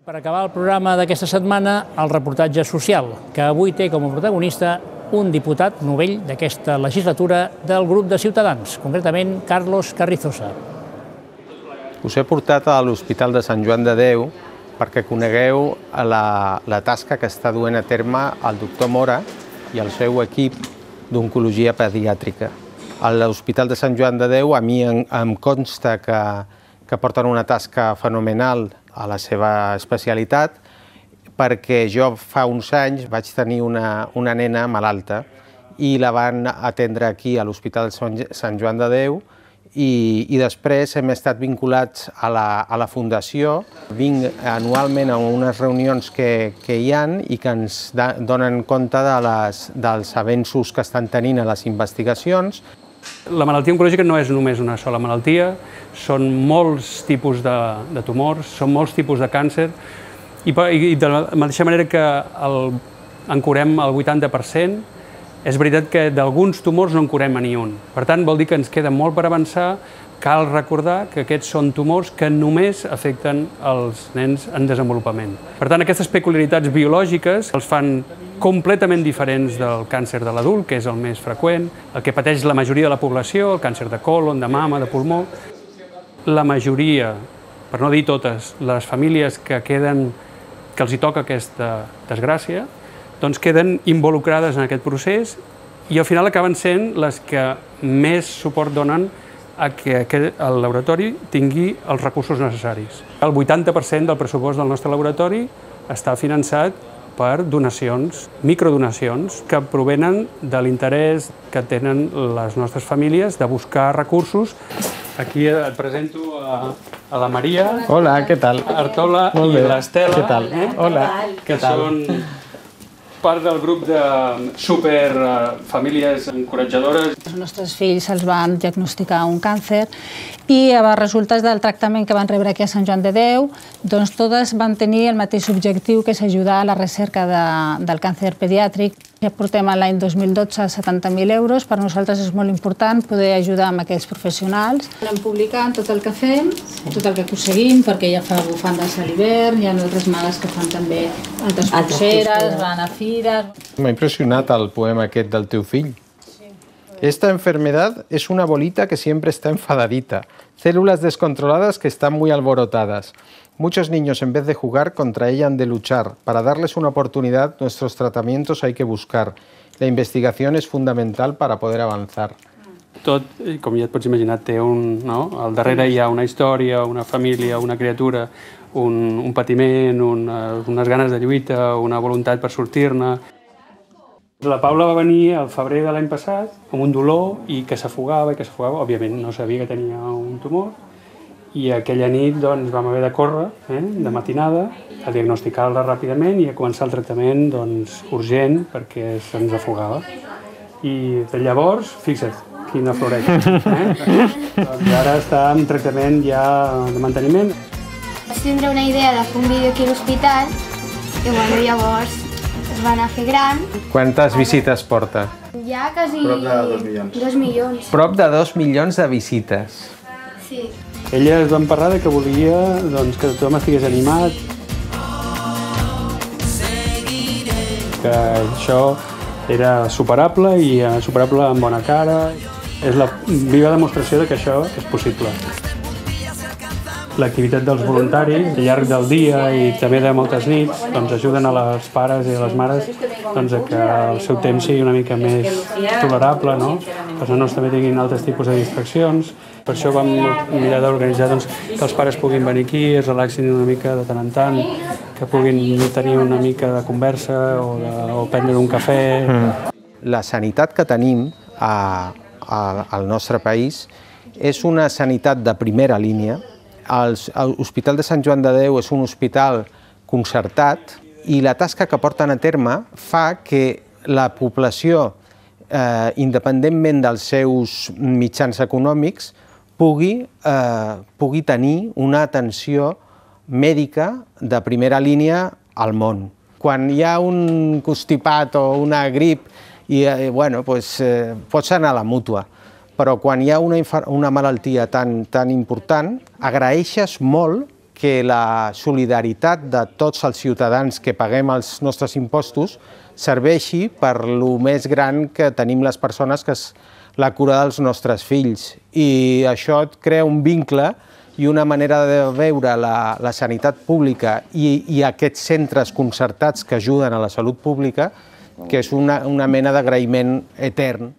Per acabar el programa d'aquesta setmana, el reportatge social, que avui té com a protagonista un diputat novell d'aquesta legislatura del grup de Ciutadans, concretament Carlos Carrizosa. Us he portat a l'Hospital de Sant Joan de Déu perquè conegueu la tasca que està duent a terme el doctor Mora i el seu equip d'oncologia pediàtrica. A l'Hospital de Sant Joan de Déu a mi em consta que porten una tasca fenomenal a la seva especialitat, perquè jo fa uns anys vaig tenir una nena malalta i la van atendre aquí a l'Hospital de Sant Joan de Déu i després hem estat vinculats a la Fundació. Vinc anualment a unes reunions que hi ha i que ens donen compte dels avenços que estan tenint a les investigacions. La malaltia oncològica no és només una sola malaltia, són molts tipus de tumors, són molts tipus de càncer i de la mateixa manera que en curem el 80%, és veritat que d'alguns tumors no en curem a ni un. Per tant, vol dir que ens queda molt per avançar. Cal recordar que aquests són tumors que només afecten els nens en desenvolupament. Per tant, aquestes peculiaritats biològiques els fan completament diferents del càncer de l'adult, que és el més freqüent, el que pateix la majoria de la població, el càncer de còlon, de mama, de pulmó. La majoria, per no dir totes, les famílies que els hi toca aquesta desgràcia, doncs queden involucrades en aquest procés i al final acaben sent les que més suport donen a que el laboratori tingui els recursos necessaris. El 80% del pressupost del nostre laboratori està finançat per donacions, microdonacions, que provenen de l'interès que tenen les nostres famílies de buscar recursos. Aquí et presento a la Maria. Hola, què tal? Artola i l'Estela. Què tal? Hola, què tal? Són part del grup de superfamílies encoratjadores. Els nostres fills se'ls van diagnosticar un càncer i a resultes del tractament que van rebre aquí a Sant Joan de Déu, doncs totes van tenir el mateix objectiu, que és ajudar a la recerca del càncer pediàtric. Ja portem l'any 2012 70.000 euros. Per nosaltres és molt important poder ajudar amb aquests professionals. Anem publicant tot el que fem, tot el que aconseguim, perquè ja fa bufandes a l'hivern, hi ha altres mares que fan també altres pulseres, van a fires. M'ha impressionat el poema aquest del teu fill. Esta enfermedad es una bolita que siempre está enfadadita, células descontroladas que están muy alborotadas. Muchos niños, en vez de jugar, contra ella han de luchar. Para darles una oportunidad, nuestros tratamientos hay que buscar. La investigación es fundamental para poder avanzar. Tot, com ja et pots imaginar, té al darrere hi ha una història, una família, una criatura, un patiment, unes ganes de lluita, una voluntat per sortir-ne. La Paula va venir al febrer de l'any passat amb un dolor i que s'afogava, òbviament no sabia que tenia un tumor, i aquella nit doncs, vam haver de córrer, de matinada, a diagnosticar-la ràpidament i a començar el tractament urgent perquè se'ns afogava. I de llavors, fixa't, quina floreta. Doncs ara està en tractament ja de manteniment. Vaig tindre una idea de fer un vídeo aquí a l'hospital i llavors es va anar a fer gran. Quantes visites porta? Ja quasi 2 milions. Prop de 2 milions de visites. Sí. Elles van parlar que volia que tothom estigués animat, que això era superable i superable amb bona cara. És la viva demostració que això és possible. L'activitat dels voluntaris al llarg del dia i també de moltes nits ajuden a les pares i a les mares a que el seu temps sigui una mica més tolerable, que els nanos també tinguin altres tipus de distraccions. Per això vam mirar d'organitzar que els pares puguin venir aquí, es relaxin una mica de tant en tant, que puguin tenir una mica de conversa o prendre un cafè. La sanitat que tenim al nostre país és una sanitat de primera línia. L'Hospital de Sant Joan de Déu és un hospital concertat i la tasca que porten a terme fa que la població, independentment dels seus mitjans econòmics, pugui tenir una atenció mèdica de primera línia al món. Quan hi ha un constipat o una grip, pots anar a la mútua, però quan hi ha una malaltia tan important, agraeixes molt que la solidaritat de tots els ciutadans que paguem els nostres impostos serveixi per lo més gran que tenim les persones, que és la cura dels nostres fills. I això et crea un vincle i una manera de veure la sanitat pública i aquests centres concertats que ajuden a la salut pública, que és una mena d'agraïment etern.